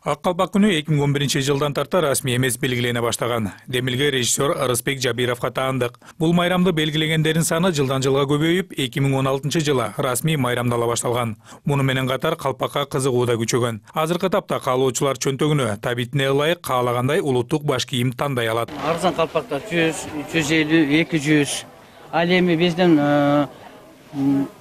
Ак калпак күнү 2011-жылдан тарта расмий эмес белгилене баштаган. Демилге режиссер Арыспек Жабировго таандык. Бул майрамды белгилегендердин саны жылдан жылга көбөйүп, 2016-жылы расмий майрамдала башталган. Муну менен катар калпакка кызыгуу да күчөгөн. Азыркы тапта каалоочулар чөнтөгүнө табитине ылайык каалагандай улуттук баш кийим тандай алат. Арзан калпактар 100, 150, 200. Ал эми биздин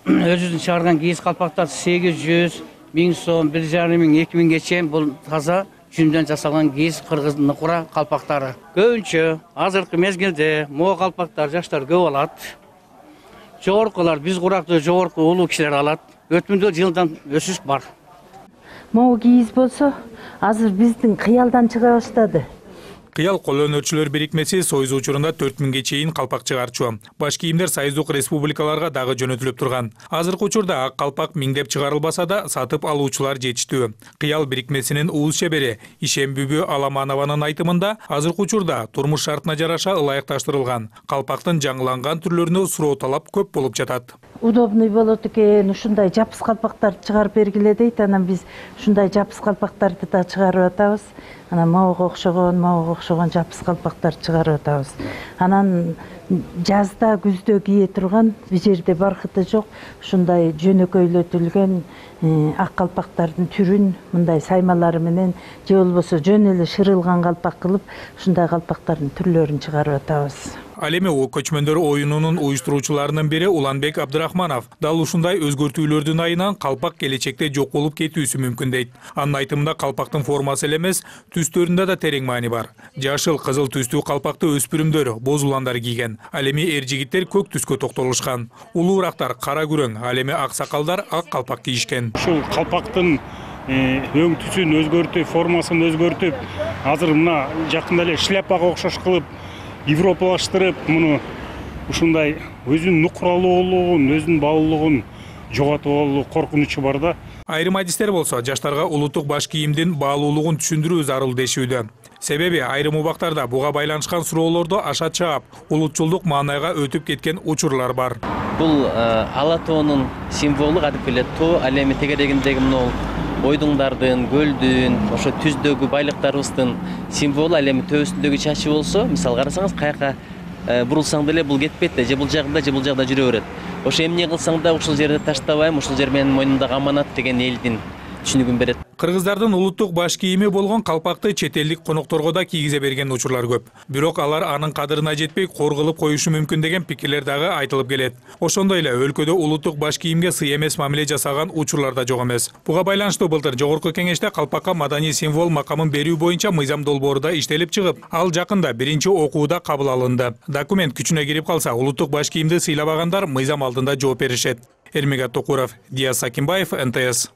өзүбүздүн чыгарган кийиз калпактар 800, 1000 сом, 1,5 миң, 2 миңге чейин бул таза жүндөн жасалган кийиз кыргыз нукура калпактары. Көбүнчө азыркы мезгилде могу калпактар жаштар көп алат. Жогоркулар биз курактуу жогорку улуу кишилер алат. Өтмүндө жылдан өсүш бар. Могу кийиз болсо азыр биздин кыялдан чыга баштады. Кыял кол өнөрчүлөр бирикмеси Союз учурунда 4000ге чейин калпак чыгарчу. Баш кийимдер союздук республикаларга дагы жөнөтүлүп турган. Азыркы учурда ак калпак миңдеп чыгарылбаса да, сатып алуучулар жетиштүү. Кыял бирикмесинин уус чебери Ишембүбү Аламанованын айтымында, азыркы учурда турмуш шартына жараша ылайыкташтырылган калпактын жаңыланган түрлөрүнө суроо талап көп болуп жатат. Удобный болот экен, ушундай жапыс калпактарды чыгарып бергиле дейт. Анан биз ушундай жапыс калпактарды да чыгарып атабыз. Анан могуга окшогон жапыс калпактарды чыгарып атабыз. Анан жазда, күздө кие турган, бул жерде баркыты жок, ушундай жөнөкөйлөтүлгөн ак калпактардын түрүн мындай саймалары менен же болбосо жөн эле шырылган калпак кылып, ушундай калпактардын түрлөрүн чыгарып атабыз. Ал эми көчмөндөр оюнунун уюштуруучуларынын бири Уланбек Абдырахманов дал ушундай өзгөртүүлөрдүн айынан калпак келечекте жок болуп кетүүсү мүмкүн дейт. Анын айтымында калпактын формасы эле эмес, түстөрүндө да терең маани бар. Жашыл, кызыл түстүү калпакты өспүрүмдөр, боз уландар кийген. Ал эми эр жигиттер көк түскө токтолушкан. Улуурактар кара күрөң, ал эми ак сакалдар ак калпак кийишкен. Ушул калпактын өң түсүн өзгөртүп, формасын өзгөртүп, азыр мына жакында эле шляпага окшош кылып европалаштырып, муну ушундай өзүнүн нукуралуулугун, өзүнүн баалуулугун жоготуп алуу коркунучу бар да. Айрым адистер болсо жаштарга улуттук баш кийимдин баалуулугун түшүндүрүү зарыл дешүүдө. Себеби айрым убактарда буга байланышкан суроолорду аша чаап, улутчулдук маанайга өтүп кеткен учурлар бар. Бул ала тоонун символу кадимки эле тоо, ал эми тегерегиндеги мына ойдуңдардын, көлдүн, ошо түздөгү байлыктарыбыздын символу. Ал эми төбөсүндөгү чачы болсо, мисалы карасаңыз, каяка бурулсаң деле бул кетпейт да, же бул жагында жүрө берет. Ошо эмне кылсаң да ушул жерде таштабайм, ушул жер менин мойнумдагы аманат деген элдин түшүнүгүн берет. Кыргыздардын улуттук баш кийими болгон калпакты чет элдик конокторго да кийгизе берген учурлар көп. Бирок алар анын кадырына жетпей кор кылып коюшу мүмкүн деген пикирлер дагы айтылып келет. Ошондой эле өлкөдө улуттук баш кийимге сый эмес мамиле жасаган учурлар да жок эмес. Буга байланыштуу былтыр Жогорку Кеңеште калпакка маданий символ макамын берүү боюнча мыйзам долбоору да иштелип чыгып, ал жакында биринчи окууда кабыл алынды. Документ күчүнө кирип калса, улуттук баш кийимди сыйлабагандар мыйзам алдында жооп беришет. Эрмегат Токуров, Диас Сакимбаев, НТС.